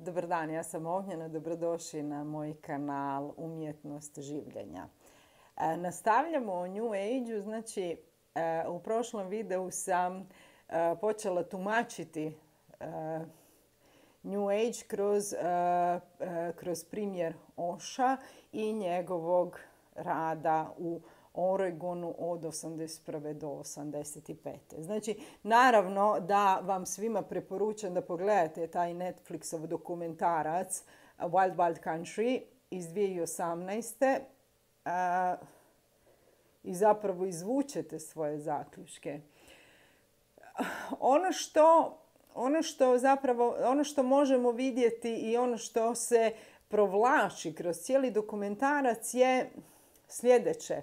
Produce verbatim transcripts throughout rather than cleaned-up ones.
Dobar dan, ja sam Ognjena, dobrodošli na moj kanal Umjetnost življenja. E, nastavljamo o New Age-u, znači e, u prošlom videu sam e, počela tumačiti e, New Age kroz, e, e, kroz primjer Osha i njegovog rada u Oregonu od osamdeset prve do osamdeset pete. Znači, naravno da vam svima preporučam da pogledate taj Netflixov dokumentarac Wild Wild Country iz dvije tisuće osamnaeste. Uh, i zapravo izvučete svoje zaključke. Ono što, ono što zapravo, ono što možemo vidjeti i ono što se provlači kroz cijeli dokumentarac je sljedeće.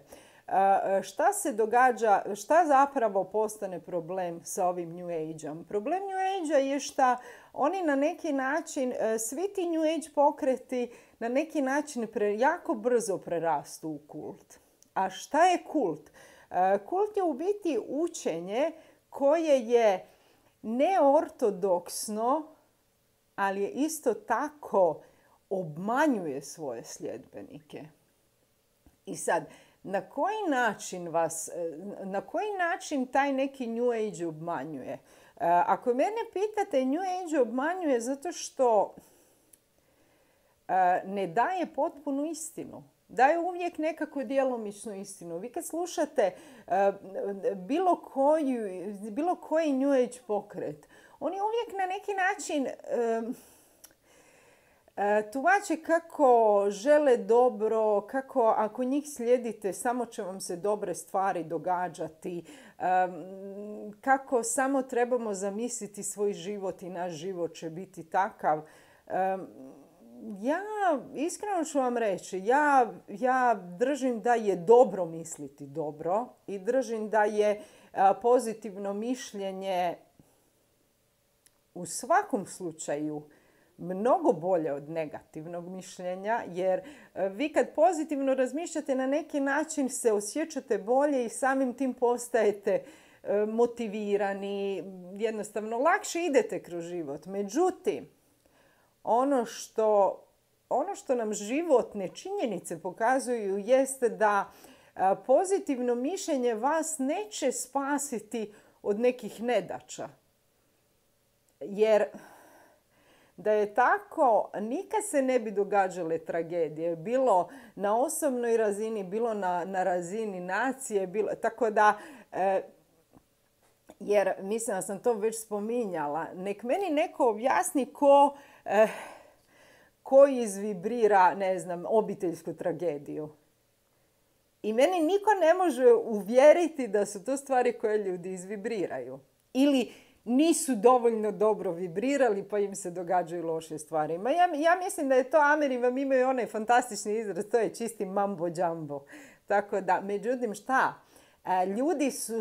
Šta se događa, šta zapravo postane problem sa ovim New Age-om? Problem New Age-a je što oni na neki način, svi ti New Age pokreti na neki način pre, jako brzo prerastu u kult. A šta je kult? Kult je u biti učenje koje je neortodoksno, ali je isto tako obmanjuje svoje sljedbenike. I sad, na koji način vas, na koji način taj neki New Age obmanjuje? Ako mene pitate, New Age obmanjuje zato što ne daje potpunu istinu. Daje uvijek nekako djelomičnu istinu. Vi kad slušate bilo, koju, bilo koji New Age pokret, oni uvijek na neki način tumače kako žele dobro, kako ako njih slijedite samo će vam se dobre stvari događati, kako samo trebamo zamisliti svoj život i naš život će biti takav. Ja, iskreno ću vam reći, ja, ja držim da je dobro misliti dobro i držim da je pozitivno mišljenje u svakom slučaju mnogo bolje od negativnog mišljenja, jer vi kad pozitivno razmišljate na neki način se osjećate bolje i samim tim postajete motivirani, jednostavno lakše idete kroz život. Međutim, ono što, ono što nam životne činjenice pokazuju jeste da pozitivno mišljenje vas neće spasiti od nekih nedaća. Jer da je tako, nikad se ne bi događale tragedije. Bilo na osobnoj razini, bilo na, na razini nacije. Bilo, tako da, e, jer mislim da sam to već spominjala, nek meni neko objasni ko, e, ko izvibrira, ne znam, obiteljsku tragediju. I meni niko ne može uvjeriti da su to stvari koje ljudi izvibriraju. Ili nisu dovoljno dobro vibrirali pa im se događaju loše stvari. Ma ja, ja mislim da je to, Ameri vam imaju onaj fantastični izraz, to je čisti mambo jumbo. Tako da, međutim šta? Ljudi, su,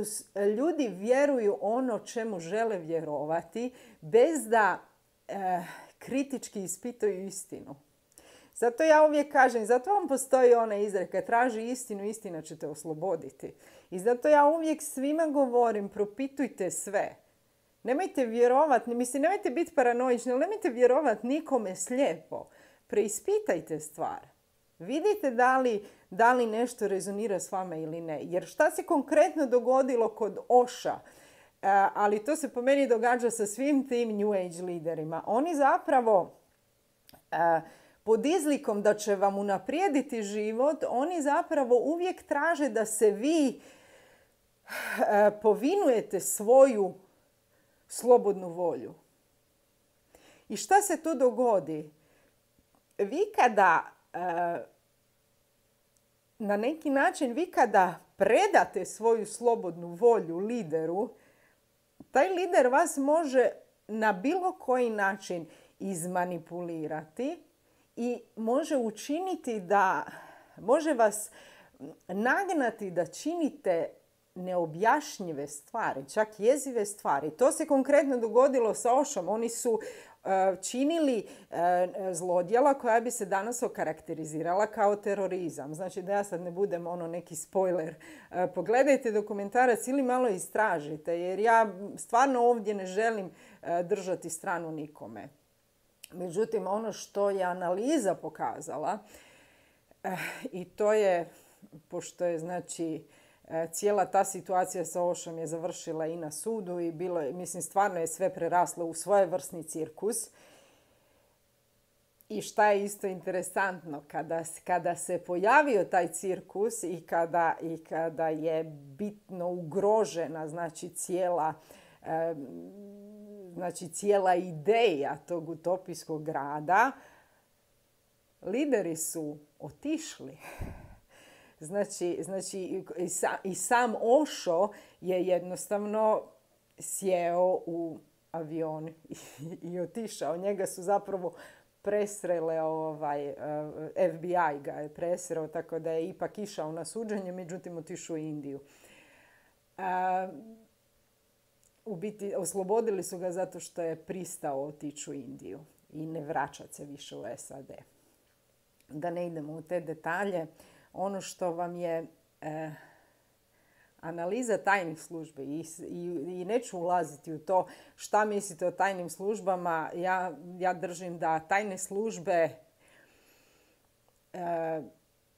ljudi vjeruju ono čemu žele vjerovati bez da eh, kritički ispituju istinu. Zato ja uvijek kažem, zato vam postoji ona izreka, traži istinu, istina će te osloboditi. I zato ja uvijek svima govorim, propitujte sve. Nemojte vjerovati, mislim, nemojte biti paranoični, ali nemojte vjerovati nikome slijepo. Preispitajte stvar. Vidite da li, da li nešto rezonira s vama ili ne. Jer šta se konkretno dogodilo kod Osha, ali to se po meni događa sa svim tim New Age liderima. Oni zapravo pod izlikom da će vam unaprijediti život, oni zapravo uvijek traže da se vi povinujete svoju slobodnu volju. I šta se tu dogodi? Vi kada, na neki način, vi kada predate svoju slobodnu volju lideru, taj lider vas može na bilo koji način izmanipulirati i može učiniti da, može vas nagnati da činite neobjašnjive stvari, čak jezive stvari. To se konkretno dogodilo sa Oshom. Oni su uh, činili uh, zlodjela koja bi se danas okarakterizirala kao terorizam. Znači da ja sad ne budem ono neki spoiler. Uh, pogledajte dokumentarac ili malo istražite, jer ja stvarno ovdje ne želim uh, držati stranu nikome. Međutim, ono što je analiza pokazala, eh, i to je, pošto je znači eh, cijela ta situacija sa Oshom je završila i na sudu i bilo je, mislim, stvarno je sve preraslo u svojevrsni cirkus. I šta je isto interesantno, kada, kada se pojavio taj cirkus i kada, i kada je bitno ugrožena znači cijela, eh, znači cijela ideja tog utopijskog grada, lideri su otišli. Znači, znači i, sa, i sam Osho je jednostavno sjeo u avion i, i otišao. Njega su zapravo presrele, ovaj, F B I ga je presreo, tako da je ipak išao na suđenje, međutim otišao u Indiju. A, u biti oslobodili su ga zato što je pristao otići u Indiju i ne vraćati se više u S A D. Da ne idemo u te detalje, ono što vam je eh, analiza tajnih službi i, i, i neću ulaziti u to šta mislite o tajnim službama. Ja, ja držim da tajne službe eh,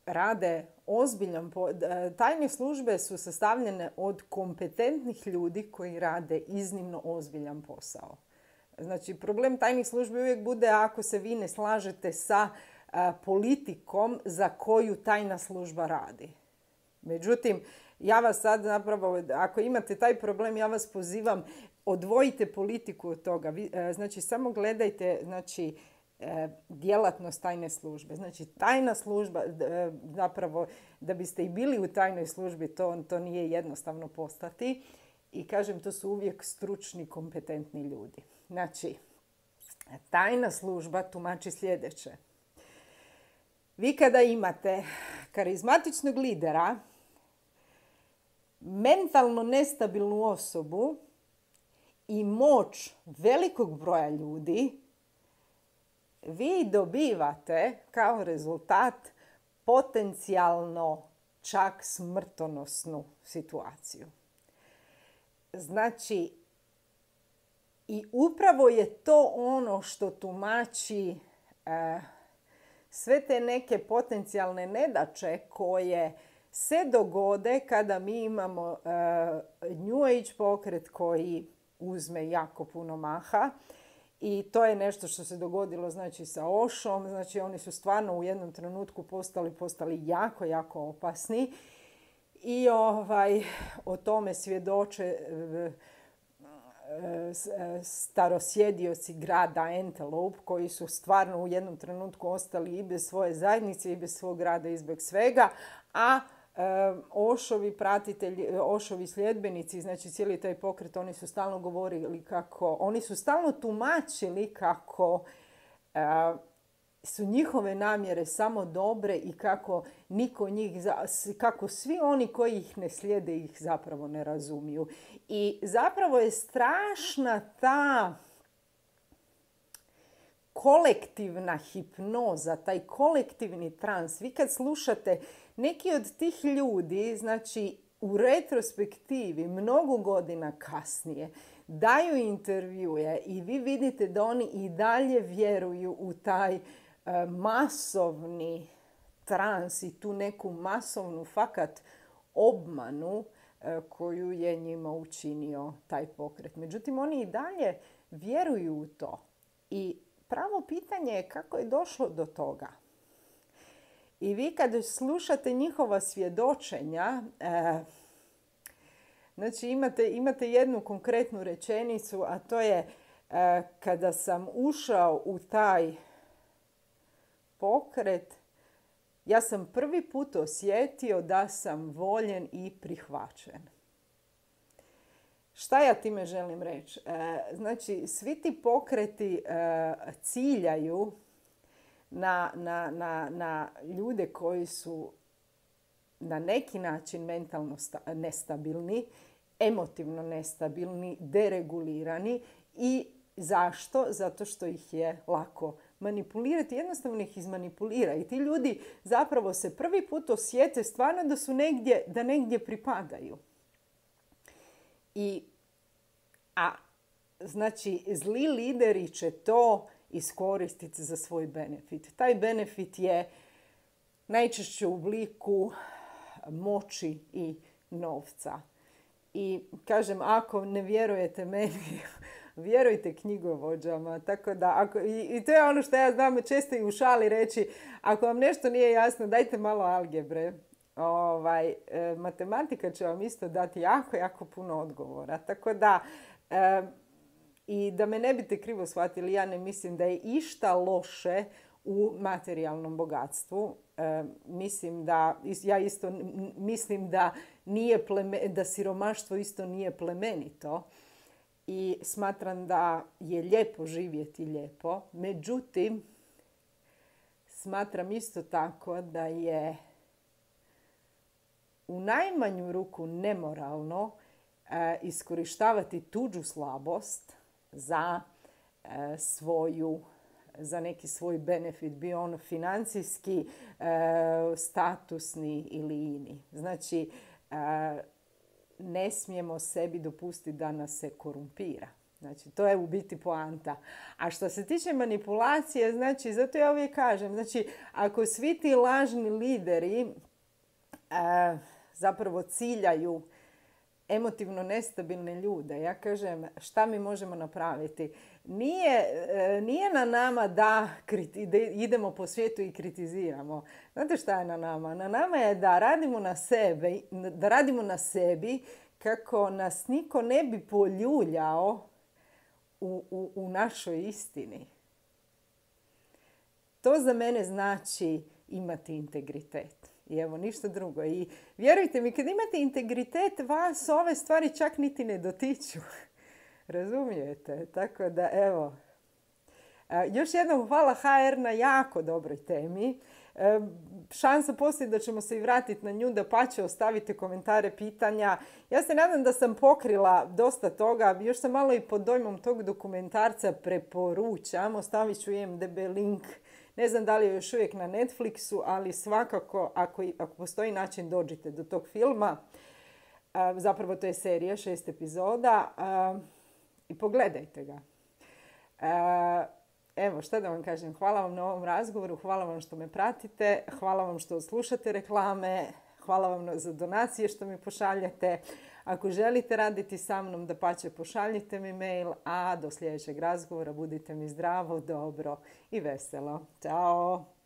rade ozbiljan po... Tajne službe su sastavljene od kompetentnih ljudi koji rade iznimno ozbiljan posao. Znači, problem tajnih službi uvijek bude ako se vi ne slažete sa a, politikom za koju tajna služba radi. Međutim, ja vas sad zapravo, ako imate taj problem, ja vas pozivam, odvojite politiku od toga. Vi, a, znači, samo gledajte, znači, djelatnost tajne službe. Znači, tajna služba, zapravo, da biste i bili u tajnoj službi, to, to nije jednostavno postati. I kažem, to su uvijek stručni, kompetentni ljudi. Znači, tajna služba tumači sljedeće. Vi kada imate karizmatičnog lidera, mentalno nestabilnu osobu i moć velikog broja ljudi, vi dobivate kao rezultat potencijalno čak smrtonosnu situaciju. Znači, i upravo je to ono što tumači eh, sve te neke potencijalne nedaće koje se dogode kada mi imamo eh, New Age pokret koji uzme jako puno maha. I to je nešto što se dogodilo znači sa Oshom. Znači, oni su stvarno u jednom trenutku postali, postali jako, jako opasni. I ovaj, o tome svjedoče starosjedioci grada Antelope, koji su stvarno u jednom trenutku ostali i bez svoje zajednice i bez svog grada i bez svega, a Oshovi pratitelji, Oshovi sljedbenici, znači cijeli taj pokret, oni su stalno govorili kako, oni su stalno tumačili kako su njihove namjere samo dobre i kako niko njih, kako svi oni koji ih ne slijede ih zapravo ne razumiju. I zapravo je strašna ta kolektivna hipnoza, taj kolektivni trans. Vi kad slušate neki od tih ljudi, znači u retrospektivi, mnogo godina kasnije, daju intervjue i vi vidite da oni i dalje vjeruju u taj e, masovni trans i tu neku masovnu fakat obmanu e, koju je njima učinio taj pokret. Međutim, oni i dalje vjeruju u to. I pravo pitanje je kako je došlo do toga. I vi kad slušate njihova svjedočenja, e, znači imate, imate jednu konkretnu rečenicu, a to je e, kada sam ušao u taj pokret, ja sam prvi put osjetio da sam voljen i prihvaćen. Šta ja time želim reći? E, znači, svi ti pokreti e, ciljaju na, na, na, na ljude koji su na neki način mentalno sta- nestabilni, emotivno nestabilni, deregulirani. I zašto? Zato što ih je lako manipulirati. Jednostavno ih izmanipulira. I ti ljudi zapravo se prvi put osjete stvarno da su negdje, da negdje pripadaju. I, a znači, zli lideri će to iskoristiti za svoj benefit. Taj benefit je najčešće u obliku moći i novca. I kažem, ako ne vjerujete meni, vjerujte knjigovođama. Tako da, ako, i, i to je ono što ja znam često i u šali reći, ako vam nešto nije jasno, dajte malo algebre. Ovaj, e, matematika će vam isto dati jako, jako puno odgovora. Tako da, e, i da me ne biste krivo shvatili, ja ne mislim da je išta loše u materijalnom bogatstvu. E, mislim da, ja isto mislim da, nije pleme, da siromaštvo isto nije plemenito i smatram da je lijepo živjeti lijepo. Međutim, smatram isto tako da je u najmanju ruku nemoralno e, iskorištavati tuđu slabost za e, svoju za neki svoj benefit, bio on financijski, e, statusni ili ini. Znači, e, ne smijemo sebi dopustiti da nas se korumpira. Znači, to je u biti poanta. A što se tiče manipulacije, znači, zato ja uvijek kažem, znači, ako svi ti lažni lideri e, zapravo ciljaju emotivno nestabilne ljude, ja kažem, šta mi možemo napraviti? Nije, nije na nama da, kriti, da idemo po svijetu i kritiziramo. Znate šta je na nama? Na nama je da radimo na sebi, da radimo na sebi kako nas niko ne bi poljuljao u, u, u našoj istini. To za mene znači imati integritet. I evo, ništa drugo. I vjerujte mi, kad imate integritet, vas ove stvari čak niti ne dotiču. Razumijete? Tako da, evo. Još jednom hvala ha er na jako dobroj temi. Šansa postoji da ćemo se i vratiti na nju, da pa će ostavite komentare, pitanja. Ja se nadam da sam pokrila dosta toga. Još sam malo i pod dojmom tog dokumentarca, preporučam. Ostavit ću i em de be link. Ne znam da li je još uvijek na Netflixu, ali svakako ako, ako postoji način dođite do tog filma. Zapravo to je serija, šest epizoda. I pogledajte ga. Evo, šta da vam kažem. Hvala vam na ovom razgovoru, hvala vam što me pratite, hvala vam što slušate reklame, hvala vam za donacije što mi pošaljete. Ako želite raditi sa mnom, dapače pošaljite mi mail, a do sljedećeg razgovora budite mi zdravo, dobro i veselo. Ćao!